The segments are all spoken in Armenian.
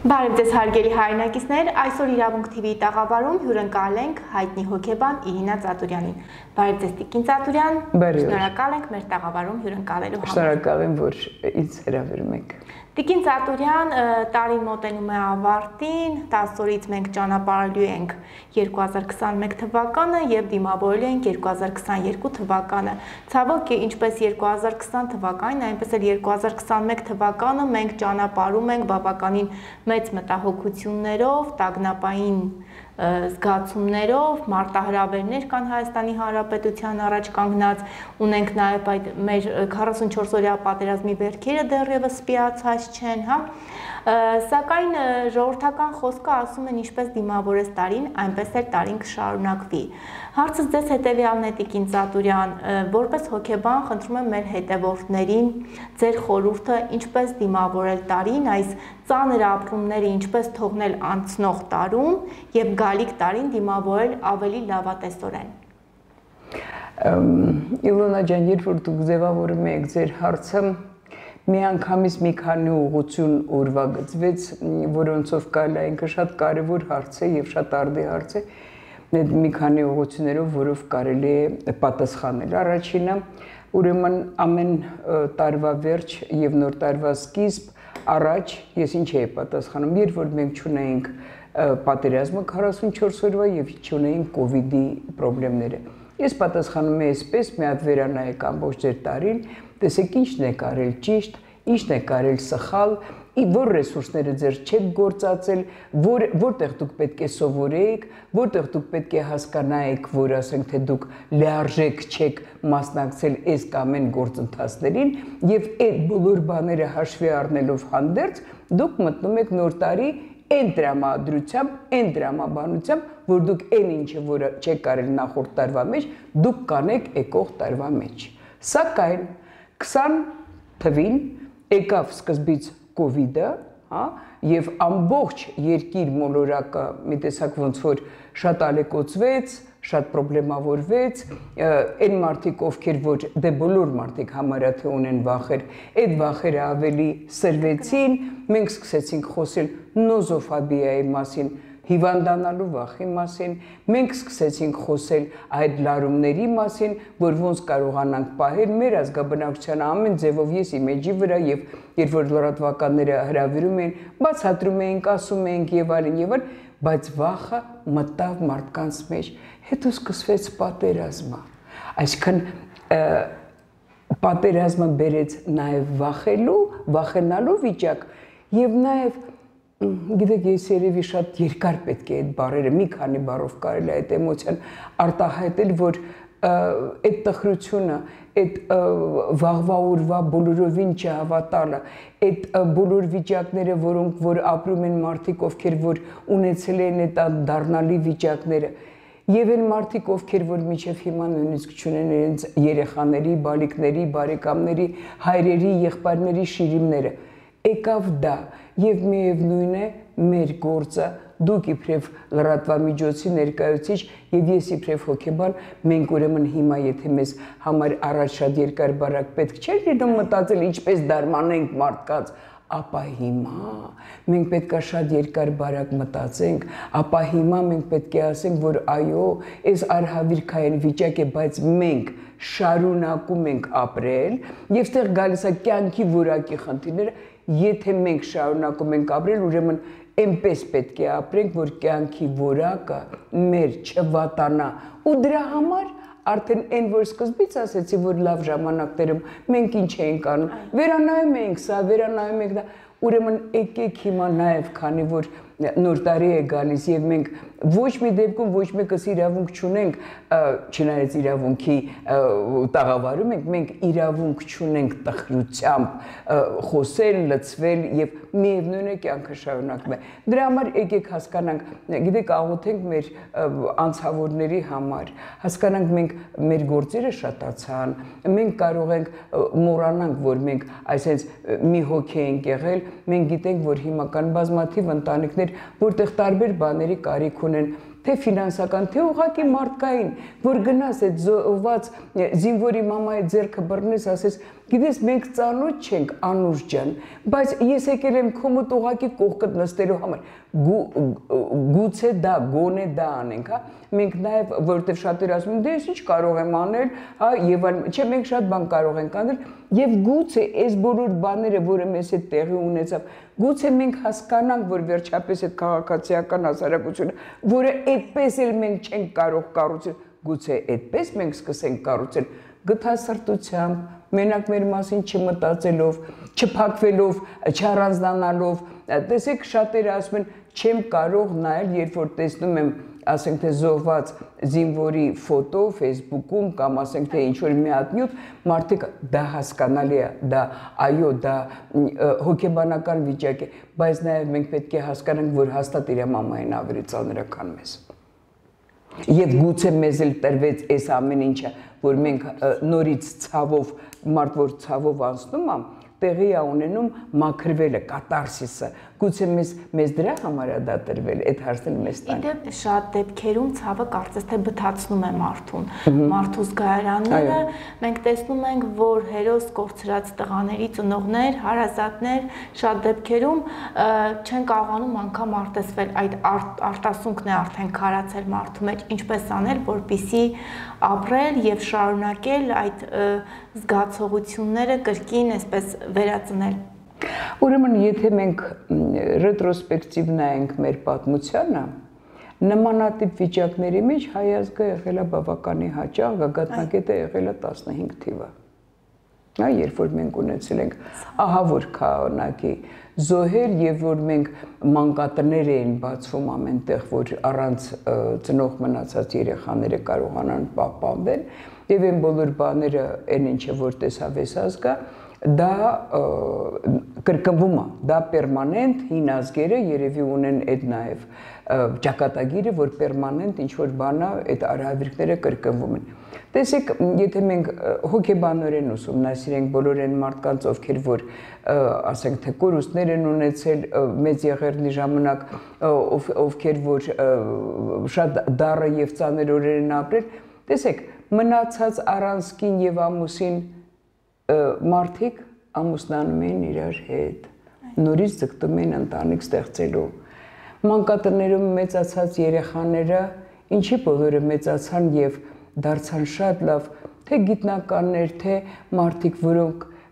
Բարև ձեզ հարգելի հայրենակիցներ, այսօր Իրավունք TV-ի տաղավարում հյուրընկալ ենք հայտնի հոգեբան Իրինա Ծատուրյանին։ Բարև ձեզ Տիկին Ծատուրյան, շնորհակալ ենք մեր տաղավարում հյուրընկալելու համար։ Շնորհակալ եմ, որ ինձ հրավիրում եք։ Տիկին Ծատուրյան, տարին մոտենում է ավարտին, 10 օրից մենք ճանապարհելու ենք 2021 թվականը եւ դիմավորելու ենք 2022 թվականը։ Ցավոք, ինչպես 2020 թվականին, այնպես էլ 2021 թվականը մենք ճանապարհում ենք բավականին մեծ մտահոգություններով, տագնապային զգացումներով, մարտահրավերներ կան Հայաստանի Հանրապետության առաջ կանգնած, ունենք նաև այդ մեր 44-օրյա պատերազմի վերքերը դեռևս սպիացած չեն, հա։ Սակայն ժողովրդական խոսքը ասում են ինչպես դիմավորես տարին, այնպես էլ տարին կշարունակվի։ Հարցս ձեզ հետևյալն է Տիկին Ծատուրյան, որպես հոգեբան խնդրում եմ մեր հետևորդներին ձեր խորհուրդը ինչպես դիմավորել տարին, այս ծանր ապրումները ինչպես թողնել անցնող տարում եւ գալիք տարին դիմավորել ավելի լավատեսորեն։ Իլոնա ջան, երբ որ դուք ձևավորում եք ձեր հարցը, միանգամից մի քանի ուղղություն օրվա գծվեց, որոնցով կարելի է ինքը շատ կարևոր հարց է եւ շատ արդի հարց է, մի քանի ուղղություններով, որով կարելի է պատասխանել։ Առաջինը, ուրեմն ամեն տարվա վերջ եւ նոր տարվա սկիզբ առաջ ես ինչ էի պատասխանում, երբ որ մենք չունեինք պատերազմը 44 օրվա եւ չունեինք կոവിഡ്ի խնդիրները։ Ես պատասխանում եմ այսպես, մի հատ վերանայեք ամբողջ ձեր տարին, տեսեք ինչն եք արել ճիշտ, ինչն եք արել սխալ, որ ռեսուրսները ձեր չեք գործածել, որտեղ դուք պետք է սովորեիք, որտեղ դուք պետք է հասկանայիք, որ ասենք թե դուք լիարժեք չեք մասնակցել այս կամ այն գործընթացներին, եւ այդ բոլոր բաները հաշվի առնելով հանդերձ դուք մտնում եք նոր տարի այն տրամադրությամբ, այն տրամաբանությամբ, որ դուք այն ինչը որը չեք արել նախորդ տարվա մեջ, դուք կանեք եկող տարվա մեջ։ Սակայն 20 թվին եկավ սկզբից կոവിഡ്ը, հա, եւ ամբողջ երկիր մոլորակը մի տեսակ ոնց որ շատ ալեկոծվեց, շատ պրոբլեմավորվեց, այն մարդիկ, ովքեր որ դե բոլոր մարդիկ համարյա թե ունեն վախեր, այդ վախերը ավելի սրվեցին, մենք սկսեցինք խոսել նոզոֆոբիայի մասին, հիվանդանալու վախի մասին, մենք սկսեցինք խոսել այդ լարումների մասին, որ ոնց կարողանանք պահել մեր ազգաբնակչության ամեն ձևով ես իմիջի վրա եւ երբ որ լրատվականները հրավիրում էին, բացատրում էինք, ասում էինք եւ այլն, բայց վախը մտավ մարդկանց մեջ, հետո սկսվեց պատերազմը, այսինքն պատերազմը բերեց նաեւ վախենալու վիճակ եւ նաեւ գիտեք, ես երևի շատ երկար պետք է այդ բառերը, մի քանի բառով կարելի է այդ էմոցիան արտահայտել, որ այդ տխրությունը, այդ վաղվա օրվա բոլորովին չհավատալը, այդ բոլոր վիճակները, որոնք որ ապրում են մարդիկ, ովքեր որ ունեցել են այդ դառնալի վիճակները, եւ այն մարդիկ, ովքեր որ մինչեւ հիմա նույնիսկ չունեն իրենց երեխաների, բալիկների, բարեկամների, հայրերի, եղբայրների շիրիմները, եկավ դա եւ միևնույն է մեր գործը դուք իբրև լրատվամիջոցի ներկայացուցիչ եւ ես իբրև հոգեբան մենք ուրեմն հիմա եթե մեզ համար առաջ շատ երկար բարակ պետք չէր լինում մտածել ինչպես դարմանենք մարդկանց, ապա հիմա մենք պետք է շատ երկար բարակ մտածենք, ապա հիմա մենք պետք է ասենք, որ այո, այս արհավիրքային վիճակ է, բայց մենք շարունակում ենք ապրել եւ ստեղ գալիս է կյանքի որակի խնդիրները, եթե մենք շարունակում ենք ապրել, ուրեմն այնպես պետք է ապրենք, որ կյանքի որակը մեր չվատանա ու դրա համար արդեն այն որ սկզբից ասեցի, որ լավ ժամանակներում մենք ինչ էինք անում, վերանայում էինք սա, վերանայում ենք դա, ուրեմն եկեք հիմա նաև քանի որ նոր տարի է գալիս եւ մենք ոչ մի դեպքում ոչ մեկս իրավունք չունենք, չնայած իրավունքի տաղավարում ենք, մենք իրավունք չունենք տխրությամբ խոսել, լցվել եւ միևնույն է կյանքը շարունակվում է։ Դրա համար եկեք հասկանանք, գիտեք, աղոթենք մեր անցավորների համար, հասկանանք մենք մեր գործերը շատացան, մենք կարող ենք մոռանանք, որ մենք այսպես մի հոգի ենք եղել, մենք գիտենք, որ հիմա կան բազմաթիվ ընտանիքներ, որտեղ տարբեր բաների կարիք ունեն, թե ֆինանսական, թե ուղղակի մարդկային, որ գնաս այդ զոհված զինվորի մամայի ձեռքը բռնես, ասես, գիտես, մենք ծանոթ չենք, Անուշ ջան, բայց ես եկել եմ քո մոտ ուղղակի կողքդ նստելու համար, գուցե դա, գոնե դա անենք, հա, մենք նաև, որովհետև շատերը ասում են, դե ես ինչ կարող եմ անել, հա, եւ այլն, չէ, մենք շատ բան կարող ենք անել, եւ գուցե այս բոլոր բաները, որը մեզ հետ տեղի ունեցավ, գուցե մենք հասկանանք, որ վերջապես այդ քաղաքացիական հասարակությունը, որը այդպես էլ մենք չենք կարող կառուցել, գուցե այդպես մենք սկսենք կառուցել գթասրտությամբ, մենակ մեր մասին չմտածելով, չփակվելով, չառանձնանալով, տեսեք շատերը ասում են, չեմ կարող նայել, երբ որ տեսնում եմ, ասենք թե զոհված զինվորի ֆոտո Facebook-ում կամ ասենք թե ինչ-որ մի հատ նյութ, մարդիկ դա հասկանալի է, դա այո, դա հոգեբանական վիճակ է, բայց նաև մենք պետք է հասկանանք, որ հաստատ իր մամային ավելի ծանր է, քան մեզ։ Եվ գուցե մեզ էլ տրվեց այս ամեն ինչը, որ մենք նորից ցավով, մարդ որ ցավով անցնում է, տեղի է ունենում մաքրվելը, կատարսիսը, գուցե մեզ դրա համար է դա տրվել, այդ հարցն մեզ տան։ Իդեպ շատ դեպքերում ցավը կարծես թե բթացնում է մարդուն, մարդու զգայարանները, մենք տեսնում ենք, որ հերոս կորցրած տղաների ծնողներ, հարազատներ շատ դեպքերում չեն կարողանում անգամ արտեսվել, այդ արտասունքն է արդեն քարացել մարդու մեջ, ինչպես անել, որպեսզի ապրել եւ շարունակել այդ զգացողությունները կրկին այսպես վերածնել։ Ուրեմն, եթե մենք ռետրոսպեկտիվ նայենք մեր պատմությանը, նմանատիպ վիճակների մեջ հայ ազգը եղել է բավականի հաճախ, գագաթնակետը եղել է 15 թիվը։ Նա երբ որ մենք ունեցել ենք ահավոր քանակի զոհեր եւ որ մենք մանկատներ էին բացվում ամենտեղ, որ առանց ծնող մնացած երեխաները կարողանան պահպանվել եւ այն բոլոր բաները, այն ինչը որ տեսավ այս ազգը, դա կրկնվում է, դա պերմանենտ հին ազգերը երևի ունեն այդ նաև ճակատագիրը, որ պերմանենտ ինչ-որ բան է, այդ արհավիրքները կրկնվում են։ Տեսեք, եթե մենք հոգեբանորեն ուսումնասիրենք բոլոր այն մարդկանց, ովքեր որ ասենք թե կորուստներ են ունեցել մեծ եղերնի ժամանակ, ովքեր որ շատ դառը եւ ծանր օրեր են ապրել, տեսեք, մնացած առանցքին եւ ամուսին մարդիկ ամուսնանում են իրար հետ, նորից ձգտում են ընտանիք ստեղծելու։ Մանկատներում մեծացած երեխաները, ինչի բոլորը մեծացան եւ դարձան շատ լավ, թե գիտնականներ, թե մարդիկ,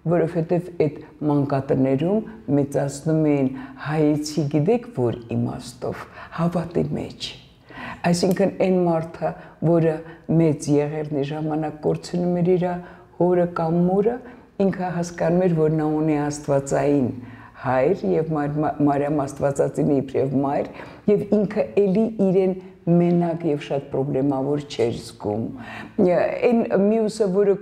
որովհետեւ այդ մանկատներում մեծացնում էին հայեցի, գիտեք որ իմաստով, հավատի մեջ։ Այսինքն այն մարդը, որը մեծ եղերնի ժամանակ կորցնում էր իր հորը կամ մորը, ինքը հասկանում էր, որ նա ունի աստվածային հայր եւ Մարիամ աստվածածին իբրև մայր եւ ինքը էլի իրեն մենակ եւ շատ պրոբլեմավոր չէր զգում։ Այն մյուսը, որը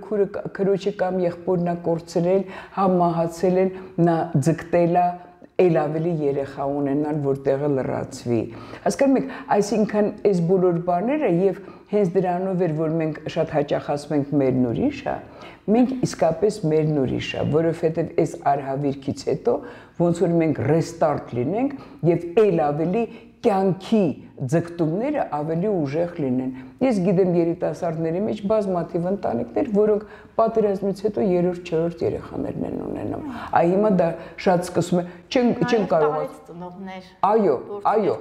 քրոջը կամ եղբորն է կորցրել, համ մահացել են, նա ձգտել է էլ ավելի երեխա ունենալ, որ տեղը լրացվի։ Հասկանում եք, այսինքն այս բոլոր բաները եւ հենց դրանով էր, որ մենք շատ հաճախ ասում ենք մերն ուրիշը, մենք իսկապես մերն ուրիշը, որովհետեւ այս արհավիրքից հետո ոնց որ մենք ռեստարտ լինենք եւ էլ ավելի կյանքի ձգտումները ավելի ուժեղ լինեն։ Ես գիտեմ երիտասարդների մեջ բազմաթիվ ընտանիքներ, որոնք պատերազմից հետո 3-4 երեխաներն են ունենում։ Այ հիմա դա շատ սկսում է, չեն կարող ծնողներ։ Այո,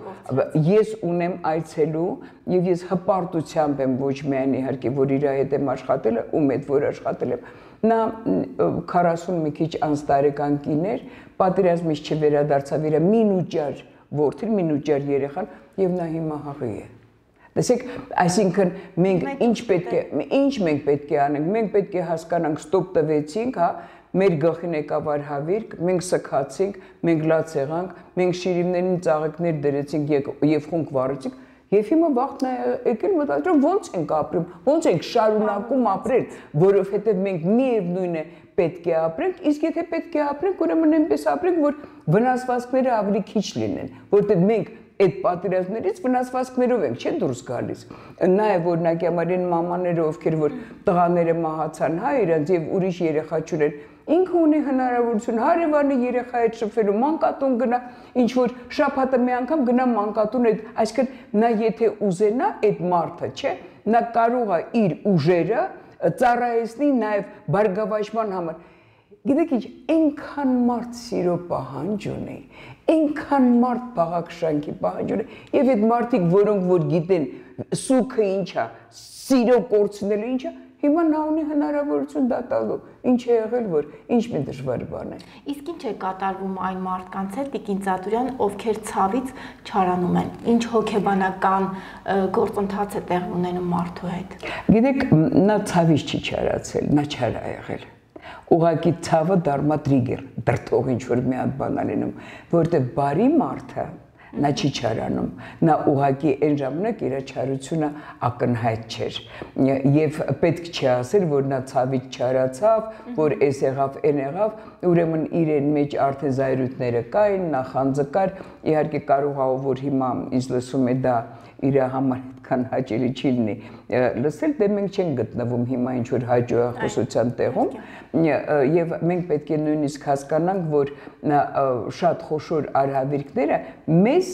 ես ունեմ այցելու եւ ես հպարտությամբ եմ ոչ միայն իհարկե որ իր հետ եմ աշխատել, ում հետ որ աշխատել եմ։ Նա 40 մի քիչ անց տարեկան կիներ, պատերազմից չվերադարձավ իր մինուճար որդին, մինուճար երեխան եւ նա հիմա հաղի է։ Տեսեք, այսինքն մենք ինչ մենք պետք է անենք, մենք պետք է հասկանանք, ստոպ տվեցինք, հա, մեր գլխին եկավ արհավիրք, մենք սքացինք, մենք լաց եղանք, մենք շիրիմներին ծաղիկներ դրեցինք եւ խունկ վառեցինք, եւ հիմա վաղն է եկել մտածում ոնց ենք ապրում, ոնց ենք շարունակում ապրել, որովհետեւ մենք միևնույն է պետք է ապրենք, իսկ եթե պետք է ապրենք, ուրեմն այնպես ապրենք, որ վնասվածքները ավելի քիչ լինեն, որտեղ մենք այդ պատերազմներից վնասվածքներով ենք, չէ՞ դուրս գալիս։ Նաև օրինակի համար այն մամաները, ովքեր որ տղաները մահացան, հա, իրանց եւ ուրիշ երեխա չունեն, ինքը ունի հնարավորություն հարևանի երեխայի հետ շփվելու, մանկատուն գնա, ինչ որ շաբաթը մի անգամ գնա մանկատուն այդ, այսինքն նա եթե ուզենա այդ մարդը, չէ, նա կարող է իր ուժերը ծառայեցնի նաև բարգավաճման համար։ Գիտեք ինչ, այնքան մարդ սիրո պահանջ ունի, այնքան մարդ բաղակշանքի պահանջ ունի, եւ այդ մարդիկ, որոնք որ գիտեն սուքը ինչ է, սիրո կորցնելը ինչ է, հիմա նա ունի հնարավորություն դա տալու, ինչ է եղել, որ ինչ մի դժվար բան է։ Իսկ ինչ է կատարվում այն մարդկանց հետ, Տիկին Ծատուրյան, ովքեր ցավից չարանում են, ինչ հոգեբանական գործընթաց է տեղի ունենում մարդու հետ։ Գիտեք, նա ցավից չի չարացել, նա չար է եղել։ Ուղղակի ցավը դառնա տրիգեր, դրթող ինչ որ մի հատ բան ալինում, որտեղ բարի մարդը նա չի չարանում, նա ուղղակի այն ժամանակ իր չարությունը ակնհայտ չէր եւ պետք չի ասել, որ նա ցավից չարացավ, որ էս եղավ, այն եղավ, ուրեմն իրեն մեջ արդեն զայրույթները կային, նախանձը կար, իհարկե կարող է որ հիմա ինձ լսում է դա իր համար այդքան հաճելի չի լինի լսել, դե մենք չենք գտնվում հիմա ինչ որ հաջողախոսության տեղում եւ մենք պետք է նույնիսկ հասկանանք, որ շատ խոշոր արհավիրքները մեզ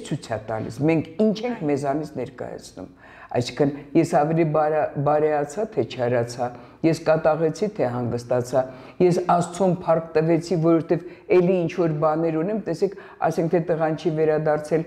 ցույց է տալիս, մենք ինչ ենք մեզանից ներկայացնում, այսինքն ես ավելի բարեացա թե չարացա, ես կատաղեցի թե հանգստացա, ես Աստծուն փառք տվեցի, որովհետև էլի ինչ որ բաներ ունեմ, տեսեք, ասենք թե տղան չի վերադարձել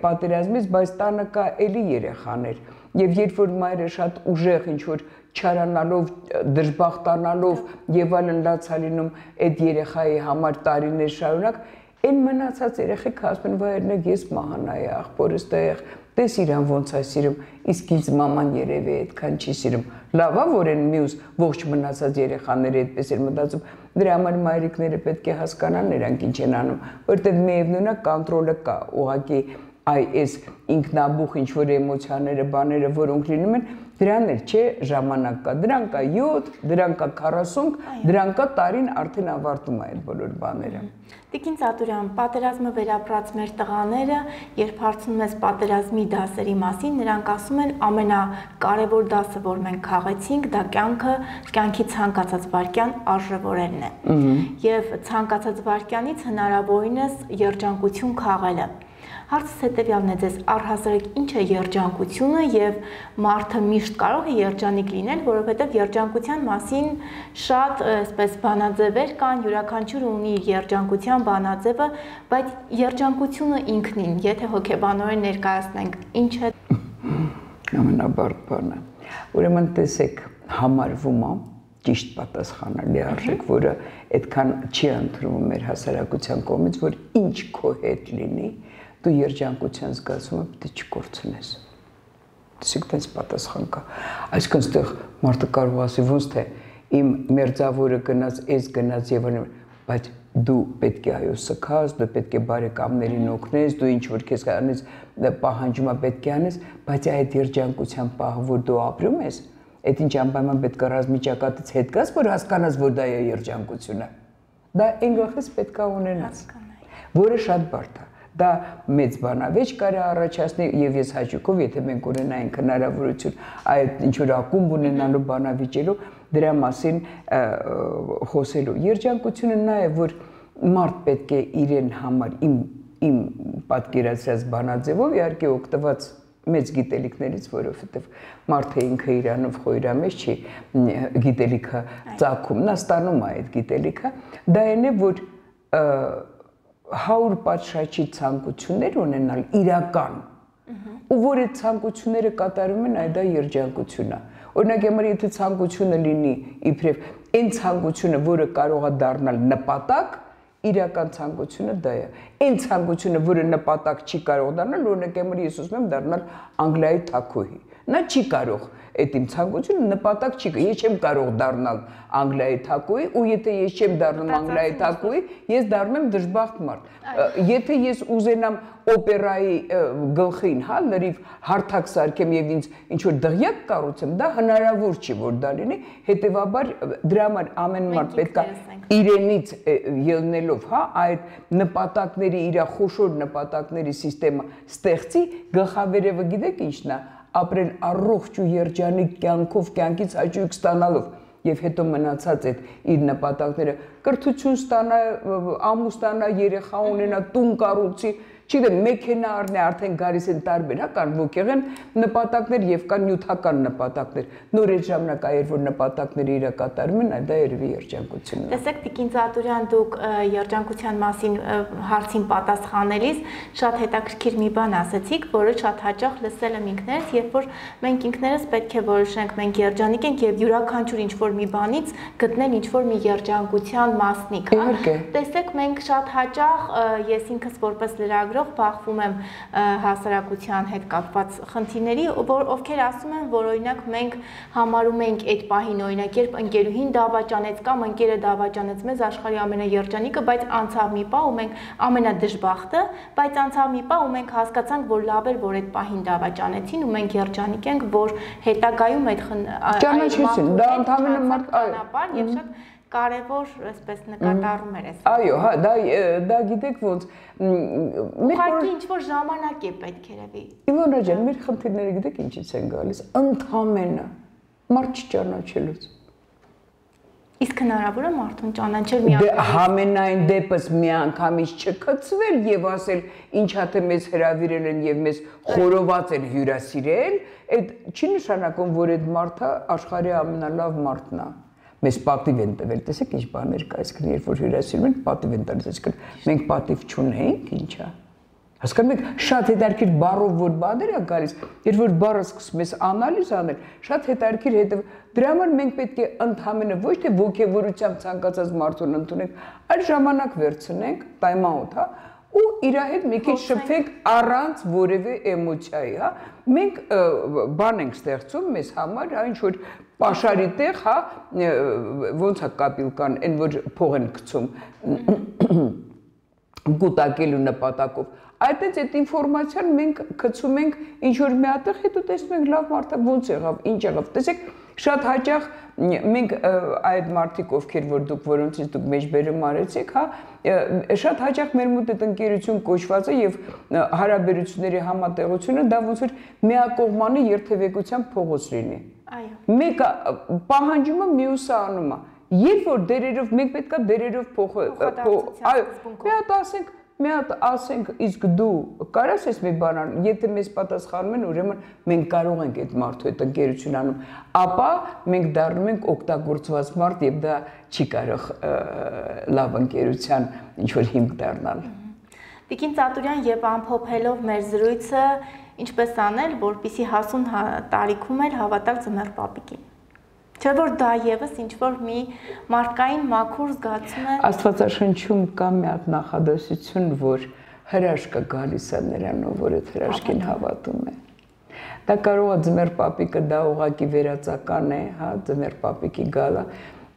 պատերազմից, բայց տանը կա էլի երեխաներ, եւ երբ որ մայրը շատ ուժեղ ինչ որ չարանալով, դժբախտանալով եւ այլն լացա լինում այդ երեխայի համար տարիներ շարունակ, այն մնացած երեխեքը ասում են, վայրնեք ես մահանայի աղբորս տեղ, տես իրան ոնց է սիրում, իսկ ինձ մաման երևի այդքան չի սիրում, լավ է որ այն մյուս ողջ մնացած երեխաները այդպես էր մտածում, դրա համար մայրիկները պետք է հասկանան նրանք ինչ են անում, որտեղ միևնույն է կոնտրոլը կա, ուղղակի այս ինքնաբուխ ինչ որ էմոցիաները, բաները, որոնք լինում են, դրան էլ չէ ժամանակ կա, դրան կա 7, դրան կա 40, դրան կա տարին արդեն ավարտում է այդ բոլոր բաները։ Տիկին Ծատուրյան, պատերազմը վերապրած մեր տղաները, երբ հարցնում ես պատերազմի դասերի մասին, նրանք ասում են ամենակարևոր դասը, որ մենք քաղեցինք, դա կյանքի ցանկացած վայրկյան արժևորելն է։ Եվ ցանկացած վայրկյանից հնարավորինս երջանկություն քաղելը։ Հարցս հետևյալն է ձեզ, առհասարակ ինչ է երջանկությունը եւ մարդը միշտ կարող է երջանիկ լինել, որովհետեւ երջանկության մասին շատ այսպես բանաձևեր կան, յուրաքանչյուրը ունի իր երջանկության բանաձևը, բայց երջանկությունը ինքնին, եթե հոգեբանորեն ներկայացնենք, ինչ է ամենաբարդ բանը։ Ուրեմն տեսեք, համարվում է ճիշտ պատասխանալի արժեք, որը այդքան չի ընդունվում մեր հասարակության կողմից, որ ինչ քո հետ լինի, դու երջանկության զգացումը պետք է չկորցնես։ Տեսեք, տես պատասխան կա։ Այսինքն այդտեղ մարդը կարող ասի ոնց թե իմ մերձավորը գնաց, ես գնաց եւ այլն, բայց դու պետք է այո սքաս, դու պետք է բարեկամներին օգնես, դու ինչ որ քեզ կանես պահանջում է պետք է անես, բայց այդ երջանկության պահը, որ դու ապրում ես, այդ ինչ անպայման պետք է ռազմիճակատից հետ գաս, որ հասկանաս, որ դա է երջանկությունը։ Դա այն գլխից պետք է ունենաս, որը շատ բարդ է։ Դա մեծ բանավեճ կարա առաջացնի եւ ես հաճույքով, եթե մենք ունենայինք հնարավորություն այդ ինչ որ ակումբ ունենալու բանավիճելու, դրա մասին խոսելու։ Երջանկությունը նա է, որ մարդ պետք է իրեն համար իմ պատկերացրած բանաձևով իհարկե օգտված մեծ գիտելիքներից, որովհետև մարդը ինքը իրանով խոյրամեջ չի գիտելիքը ծագում, նա ստանում է այդ գիտելիքը, դա այն է, որ 100 պատշաճի ցանկություններ ունենալ իրական, ու որ այդ ցանկությունները կատարում են, այդ դա երջանկություն է։ Օրինակ, եթե ցանկությունը լինի իբրև այն ցանկությունը, որը կարող է դառնալ նպատակ, իրական ցանկությունը դա է։ Այն ցանկությունը, որը նպատակ չի կարող դառնալ, օրինակ, ես ուզում եմ դառնալ Անգլիայի թագուհի։ Նա չի կարող այդ իմ ցանկությունը նպատակ չի, ես չեմ կարող դառնալ Անգլիայի թագուհի, ու եթե ես չեմ դառնում Անգլիայի թագուհի, ես դառնում եմ դժբախտ մարդ։ Եթե ես ուզենամ օպերայի գլխին, հա, լրիվ հարթակ սարքեմ եւ ինձ ինչ որ դղյակ կառուցեմ, դա հնարավոր չի որ դա լինի, հետեւաբար դրա համար ամեն մարդ պետք է իրենից ելնելով, հա, այդ նպատակների, իր խոշոր նպատակների համակարգը ստեղծի, գլխավերևը գիտեք ինչն է, ապրել առողջ ու երջանիկ կյանքով, կյանքից հաճույք ստանալով։ եւ հետո մնացած այդ իր նպատակները կրթություն ստանա, ամուսնու ստանա, երեխա ունենա, տուն կառուցի, չգիտեմ, մեքենա առնի, արդեն գալիս են տարբեր, հա, կան ոգեղեն նպատակներ եւ կան նյութական նպատակներ։ Նոր այդ ժամանակ այր որ նպատակները իրակատարում են, դա երևի երջանկությունն է։ Տեսեք, Տիկին Ծատուրյան, դուք երջանկության մասին հարցին պատասխանելիս շատ հետաքրքիր մի բան ասացիք, որը շատ հաճախ լսել եմ ինքներս, երբ որ մենք ինքներս պետք է որոշենք, մենք երջանիկ ենք եւ յուրաքանչյուր ինչ-որ մի բանից գտնել ինչ-որ մի երջանկության մասնիկ, հա։ Տեսեք, մենք շատ հաճախ ես ինքս որպես լրագրող բախվում եմ հասարակության հետ կապված խնդիրների, ովքեր ասում են, որ օրինակ մենք համարում ենք այդ պահին, օրինակ, երբ ընկերուհին դավաճանեց կամ ընկերը դավաճանեց մեզ աշխարհի ամենաերջանիկը, բայց անցավ մի պահ ու մենք ամենադժբախտը, բայց անցավ մի պահ ու մենք հասկացանք, որ լավ էր, որ այդ պահին դավաճանեցին ու մենք երջանիկ ենք, որ հետագայում այդ ճանաչեցին, դա ընդհանրապես մարդ եւ շատ կարևոր, այսպես նկատառում էր այս։ Այո, հա, դա գիտեք ոնց ուղղակի ինչ-որ ժամանակ է պետք երևի։ Իվոնա ջան, մեր խնդիրները գիտեք ինչից են գալիս, ընդհանրապես մարդ չճանաչելուց։ Իսկ հնարավոր է մարդուն ճանաչել միանգամից։ Համենայն դեպս միանգամից չկծվել եւ ասել ինչա թե մեզ հրավիրել են եւ մեզ խորոված են հյուրասիրել, այդ չի նշանակում, որ այդ մարդը աշխարհի ամենալավ մարդն է։ Մեզ պատիվ են տվել, տեսեք ինչ բաներ կա, այսինքն երբ որ հյուրասիրում են, պատիվ են տալիս, այսինքն մենք պատիվ չունենք, ինչա։ Հասկանում եք, շատ հետաքրքիր բառով որ բաներ է գալիս, երբ որ բառը սկսում ես անալիզ անել, շատ հետաքրքիր հետև դրա համար մենք պետք է ընդհանրապես ոչ թե ոգևորությամբ ցանկացած մարդուն ընդունենք, այլ ժամանակ վերցնենք, time out, հա, ու իր հետ մի քիչ շփվենք առանց որևէ էմոցիայի, հա։ Մենք բան ենք ստեղծում մեզ համար, հա, ինչ որ պաշարի տեղ, հա, ոնց է կապիլկան, այն որ փող են գցում գուտակելու նպատակով։ Այդտենց այդ ինֆորմացիան մենք գցում ենք ինչ որ մի հատեղ, հետո տեսնում ենք լավ մարդը ոնց եղավ, ինչ եղավ։ Տեսեք, շատ հաճախ մենք այդ մարդիկ ովքեր որ դուք որոնցից դուք մեջբերում արեցիք, հա, շատ հաճախ մեր մոտ այդ ընկերություն կոչված է եւ հարաբերությունների համատեղությունը դա ոնց որ միակողմանի երթևեկության փողոց լինի։ Այո։ Մեկը պահանջում է, մյուսը անում է։ Երբ որ դերերով մենք պետքա դերերով այո, մի հատ ասենք, իսկ դու կարաս ես մի բան անել, եթե մեզ պատասխանում են, ուրեմն մենք կարող ենք այդ մարդու հետ ընկերություն անում, ապա մենք դառնում ենք օգտագործված մարդ եւ դա չի կարող լավ ընկերության ինչ որ հիմք դառնալ։ Տիկին Ծատուրյան, եւ ամփոփելով մեր զրույցը, ինչպես անել, որպեսզի հասուն տարիքում էլ հավատալ ձմեռ պապիկին։ Չէ՞ որ դա եւս ինչ որ մի մարդկային մաքուր զգացում է։ Աստվածաշնչում կա մի հատ նախադասություն, որ հրաշքը գալիս է նրանով, որ այդ հրաշքին հավատում է։ Դա կարող է ձմեռ պապիկը դա ուղակի վերացական է, հա, ձմեռ պապիկի գալը,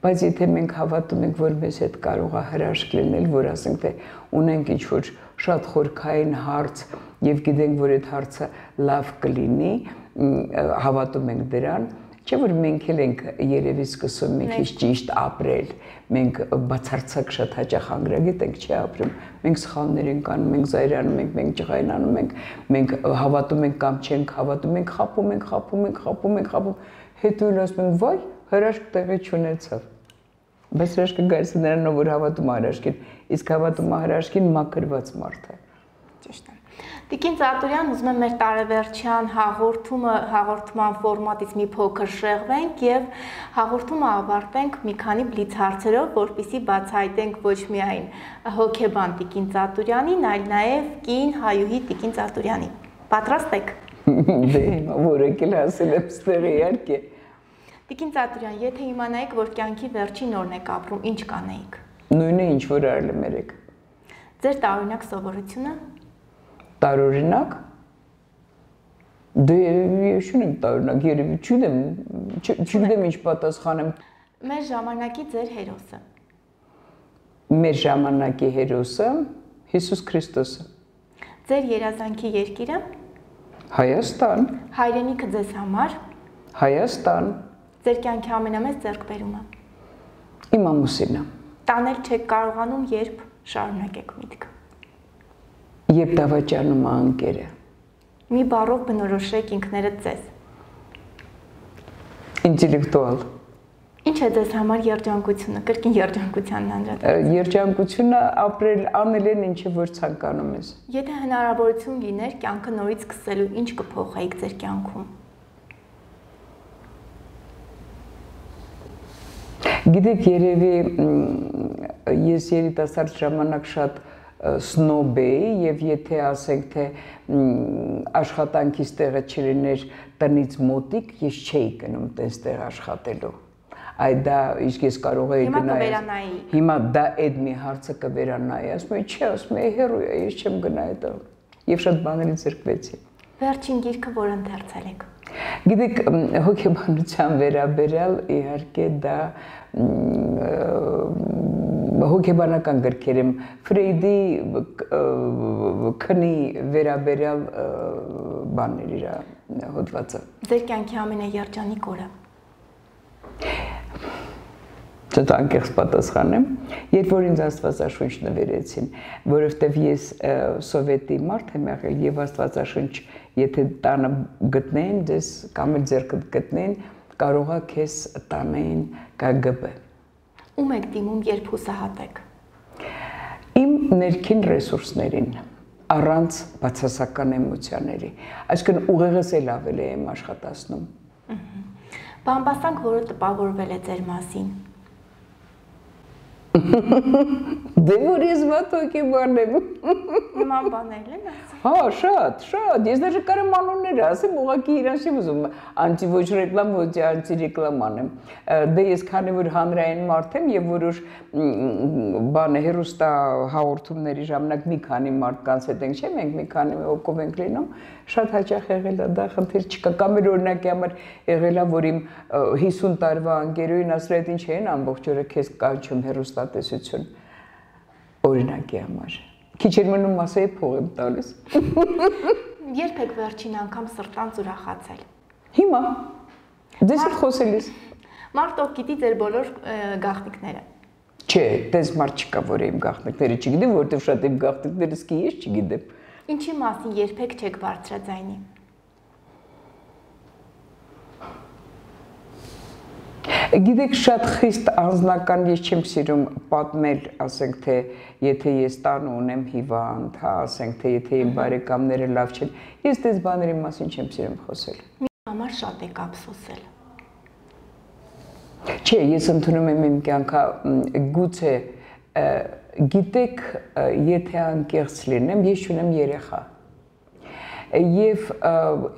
բայց եթե մենք հավատում ենք, որ մեզ հետ կարող է հրաշք լինել, որ ասենք թե ունենք ինչ որ շատ խորքային հարց եւ գիտենք, որ այդ հարցը լավ կլինի, հավատում ենք դրան, չէ՞ որ մենք էլ ենք երևի սկսում մի քիչ ճիշտ ապրել, մենք բացարձակ շատ հաճախ անգրագետ ենք չի ապրում, մենք սխալներ ենք անում, մենք զայրանում ենք, մենք ջղայնանում ենք, մենք հավատում ենք կամ չենք հավատում, մենք խաբում, հետո ասում ենք, վայ, հրաշք տեղի չունեցավ։ Բայց հրաշքը գալիս է նրանով, որ հավատում է հրաշքին, իսկ հավատում է հրաշքին մաքրված մարդ է։ Ճիշտ է։ Տիկին Ծատուրյան, ուզում եմ մեր տարեվերջյան հաղորդման ֆորմատից մի փոքր շեղվենք եւ հաղորդումը ավարտենք մի քանի բլից հարցերով, որպեսզի բացահայտենք ոչ միայն հոգեբան Տիկին Ծատուրյանին, այլ նաեւ կին հայուհի Տիկին Ծատուրյանին։ Պատրաստ եք։ Դե, որեք էլ ասել եմ ստեղ իհարկե։ Տիկին Ծատուրյան, եթե իմանայիք, որ կյանքի վերջին օրն եք ապրում, ինչ կանեիք։ Նույնը ինչ որ արել եմ երեք։ Ձեր տարօրինակ սովորությունը։ Տարօրինակ։ Դե ես չունեմ տարօրինակ, երևի չգիտեմ ինչ պատասխանեմ։ Մեր ժամանակի ձեր հերոսը։ Մեր ժամանակի հերոսը Հիսուս Քրիստոսը։ Ձեր երազանքի երկիրը։ Հայաստան։ Հայրենիքը ձեզ համար։ Հայաստան։ Ձեր կյանքի ամենամեծ ձեռքբերումը։ Իմ ամուսինը։ Տանել չեք կարողանում, երբ շարունակեք միտքը։ Երբ դավաճանում է անկերը։ Մի բառով բնորոշեք ինքներդ ձեզ։ Ինտելեկտուալ։ Ինչ Ինչ է ձեզ համար երջանկությունը, կրկին երջանկությանն անդրադառնալով։ Երջանկությունը ապրել, անել են ինչը որ ցանկանում ես։ Եթե հնարավորություն լիներ կյանքը նորից սկսելու, ինչ կփոխեիք ձեր կյանքում։ Գիտեք, երևի ես երիտասարդ ժամանակ շատ սնոբ էի եւ եթե ասենք թե աշխատանքից տեղը չլիներ տնից մոտիկ, ես չէի գնում տես-տեղ աշխատելու։ Այդ դա իսկ ես կարող էի գնալ։ Հիմա դա այդ մի հարցը կվերանայի, ասում եմ, չէ, ասում եմ, հերոյ է, ես չեմ գնա այդտեղ։ Եվ շատ բաներից զրկվեցի։ Վերջին գիրքը, որ ընթերցել եք։ Գիտեք, հոգեբանության վերաբերյալ իհարկե դա հոգեբանական գրքեր եմ Ֆրեյդի քնի վերաբերյալ բաներ իր հոդվածը։ Ձեր կյանքի ամենաերջանիկ օրը։ Շատ անկեղծ պատասխանեմ, երբ որ ինձ Աստվածաշունչ նվերեցին, որովհետև ես սովետի մարդ եմ եղել եւ Աստվածաշունչ, եթե տանը գտնեն, դες կամ էլ ձեռքդ գտնեն, կարողա քեզ տանեն KGB։ Ում եք դիմում, երբ հուսահատ եք։ Իմ ներքին ռեսուրսներին, առանց բացասական էմոցիաների, այսինքն ուղեղս էլ ավելի եմ աշխատացնում։ Բամբասանք, որը տպավորվել է ձեր մասին։ Դե որ ես վատ հոգեբան եմ։ Նման բաներ են ասում։ Հա, շատ, ես դեռ կարամ անուններ ասեմ, ուղղակի իրանց չեմ ուզում անտի ոչ ռեկլամ, ոչ անտի ռեկլամ անեմ։ Դե ես քանի որ հանրային մարդ եմ եւ որոշ բան հերոստա հաղորդումների ժամանակ մի քանի մարդկանց հետ ենք, չէ՞, մենք մի քանի հոգով ենք լինում, շատ հաճախ եղել է դա խնդիր չկա։ Կամ էլ օրինակի համար եղել է, որ իմ 50 տարվա անգերոին ասել է, ինչ են ամբողջ օրը քեզ կանչում հերոստատեսություն։ Օրինակի համար։ Քիչ էր մնում ասեի փող եմ տալիս։ Երբ եք վերջին անգամ սրտանց ուրախացել։ Հիմա։ Դες հետ խոսելիս։ Մարդ ով գիտի ձեր բոլոր գաղտնիքները։ Չէ, դες մարդ չկա, որ իմ գաղտնիքները չգիտեմ, որովհետև շատ իմ գաղտնիքները սկի ես չգիտեմ։ Ինչի մասին երբեք չեք բարձրաձայնի։ Գիտեք, շատ խիստ անձնական ես չեմ սիրում պատմել, ասենք թե եթե ես տանը ունեմ հիվանդ, հա, ասենք թե եթե իմ բարեկամները լավ չեն, ես դες բաների մասին չեմ սիրում խոսել։ Մի համար շատ եք ափսոսել։ Չէ, ես ընդունում եմ իմ կյանքը, գուցե գիտեք, եթե անկեղծ լինեմ, ես չունեմ երեխա։ Եվ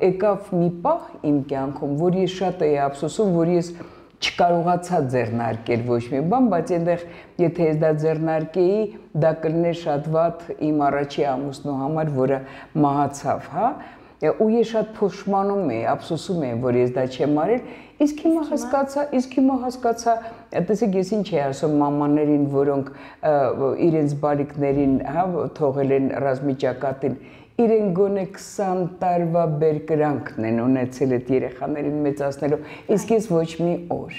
եկավ մի պահ իմ կյանքում, որ ես շատ էի ափսոսում, որ ես չկարողացա ձեռնարկել ոչ մի բան, բայց այնտեղ եթե ես դա ձեռնարկեի, դա կլիներ շատ վատ իմ առաջի ամուսնու համար, որը մահացավ, հա, ու ես շատ փոշմանում էի, ափսոսում էի, որ ես դա չեմ արել, իսկ հիմա հասկացա, տեսեք ես ինչ էի ասում մամաներին, որոնք իրենց բալիկներին, հա, թողել են ռազմիճակատին, իրեն գոնե 20 տարվա բերկրանքն են ունեցել այդ երեխաներին մեծացնելու, իսկ ես ոչ մի օր։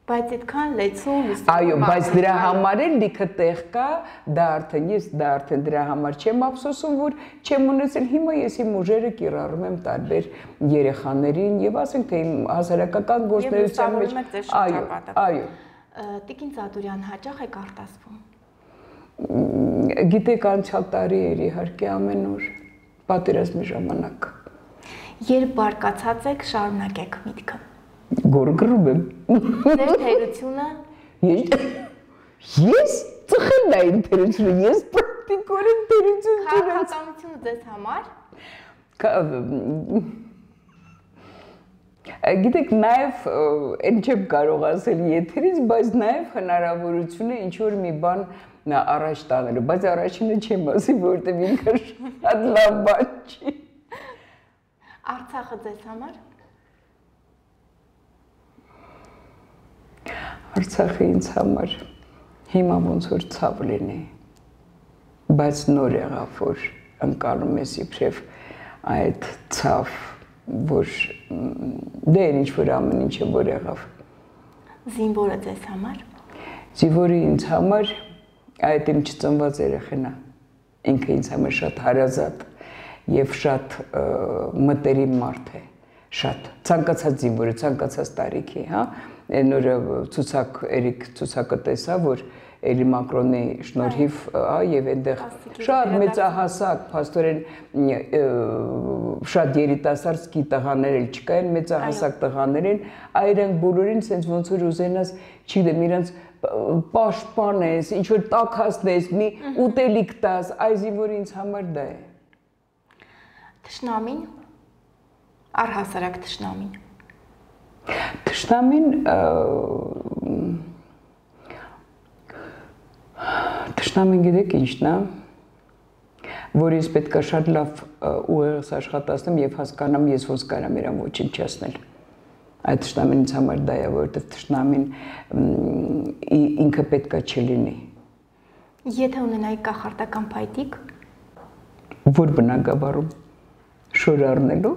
Բայց այդքան լեցուն լուսին։ Այո, բայց դրա համար էլ լիքը տեղ կա, դա արդեն դրա համար չեմ ափսոսում, որ չեմ ունեցել, հիմա ես իմ ուժերը կիրառում եմ տարբեր երեխաներին եւ ասենք թե իմ հասարակական գործունեության մեջ։ Այո։ Տիկին Ծադուրյան, հաճախ եք արտասվում։ Գիտեք, անցյալ տարի էր իհարկե ամեն օր, պատերազմի ժամանակ։ Երբ բարկացած եք, շարունակեք միտքը։ Գորգրում եմ։ Ձեր թերությունը։ Ես ծխել այն թերությունը, ես պրակտիկորեն թերություն չունեմ։ Քաղաքականությունը ձեզ համար։ Գիտեք, նաև այն չեմ կարող ասել եթերից, բայց նաև հնարավորություն է ինչ-որ մի բան առաջ տանելու, բայց առաջինը չեմ ասի, որովհետև ինքը շատ լավ բան չի։ Արցախը ձեզ համար։ Արցախը ինձ համար հիմա ոնց որ ցավ լինի, բայց նոր եղավ, որ ընկալում ես իբրև այդ ցավ, որ դե ինչ որ ամեն ինչը որ եղավ։ Զինվորը ձեզ համար։ Զինվորը ինձ համար այդ իմ չծնված երեխան է, ինքը ինձ համար շատ հարազատ եւ շատ մտերիմ մարդ է, շատ ցանկացած զինվորը, ցանկացած տարիքի, հա, այն օրը ցուցակ Էրիկ ցուցակը տեսա, որ Էլի Մակրոնի շնորհիվ, եւ այնտեղ շատ մեծահասակ, փաստորեն շատ երիտասարդ սկի տղաներ էլ չկային, մեծահասակ տղաներ են, այրանք բոլորին sense ոնց որ ուզենաս, չգիտեմ, իրանց պաշտպանես, ինչ որ տաքացնես, մի ուտելիք տաս, այսի որ ինձ համար դա է։ Թշնամին, առհասարակ թշնամին։ Թշնամին գիտեք ինչն է, որ ես պետք է շատ լավ ուղեղս աշխատացնեմ եւ հասկանամ ես ոնց կարամ իրան ոչնչացնել։ Այդ թշնամին ինձ համար դա է, որովհետեւ թշնամին ինքը պետք է չլինի։ Եթե ունենայի կախարդական փայտիկ, որ բնակավարում շոր առնելու։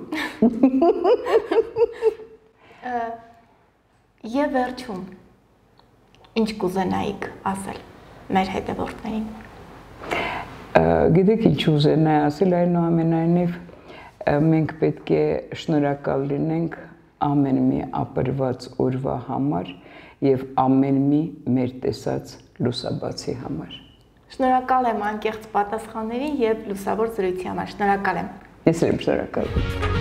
Եվ վերջում, ինչ կուզենայիք ասել մեր հետևորդներին։ Գիտեք ինչ ուզենայի ասել, այնուամենայնիվ մենք պետք է շնորհակալ լինենք ամեն մի ապրված օրվա համար եւ ամեն մի մեր տեսած լուսաբացի համար։ Շնորհակալ եմ անկեղծ պատասխանների եւ լուսավոր զրույցի համար։ Շնորհակալ եմ։ Ես եմ շնորհակալ։